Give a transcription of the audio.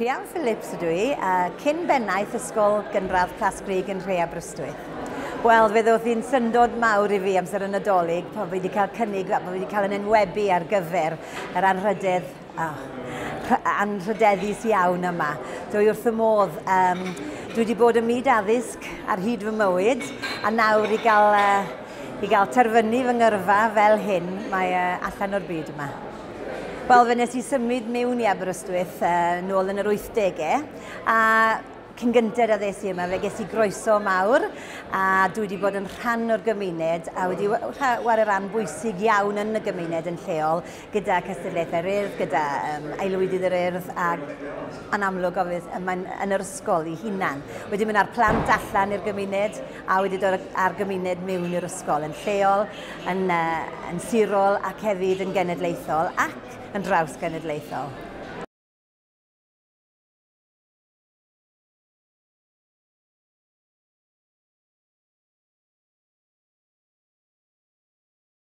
Rhian Phillips ydw i, cyn bennaeth Ysgol Gynradd Plascrug yn Nhre Aberystwyth. Wel, fe ddoth hi'n syndod mawr i fi amser y Nadolig pan fi wedi cael cynnig, pan fi wedi cael yn enwebu ar gyfer yr anrhydedd, oh, anrhydeddus iawn yma. Dwi wrth y modd. Dwi wedi bod ym myd addysg ar hyd fy mywyd, a nawr i gael, i gael terfynu fy ngyrfa fel hyn, mae allan o'r byd yma. Wel, fe nes i symud mewn i Aberystwyth nôl yn yr 80au, a cyn gynted a ddes i yma, fe ges i groeso mawr, a dwi wedi bod yn rhan o'r gymuned, a wedi chwarae rhan bwysig iawn yn y gymuned yn lleol, gyda Cystadlaethau'r Urdd, gyda Aelwydydd yr Urdd, a yn amlwg mae'n yn yr ysgol i hunan. Wedi mynd â'r plant allan i'r gymuned, a wedi dod â'r gymuned mewn i'r ysgol yn lleol, yn sirol ac hefyd yn genedlaethol ac yn draws genedlaethol.